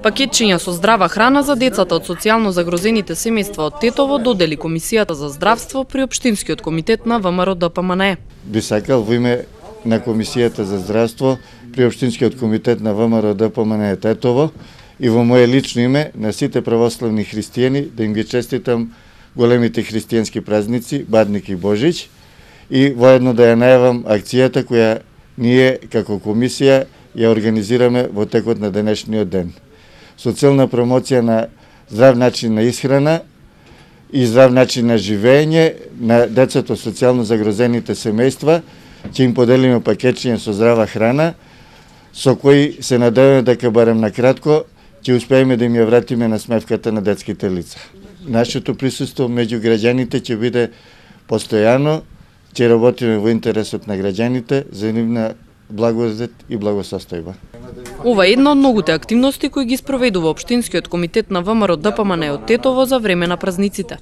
Пакетчиња со здрава храна за децата од социјално загрозените семејства од Тетово додели Комисијата за здравство при Општинскиот комитет на ВМРО ДПМНЕ. Би сакал во име на Комисијата за здравство при Општинскиот комитет на ВМРО ДПМНЕ Тетово и во моје лично име на сите православни христијани да им ги честитам големите христијански празници Бадник и Божич и воедно да ја најавам акцијата која ние како комисија ја организираме во текот на денешниот ден. Со цел на промоција на здрав начин на исхрана и здрав начин на живење на децата социјално загрозените семејства, ќе им поделиме пакетчиња со здрава храна, со кои се надеваме дека барем на кратко ќе успееме да им ја вратиме на смевката на детските лица. Нашето присуство меѓу граѓаните ќе биде постојано, ќе работиме во интересот на граѓаните за нивна благодет и благосостојба. Ова е една од многуте активности кои ги спроведува Општинскиот комитет на ВМРО ДПМНЕ од Тетово за време на празниците.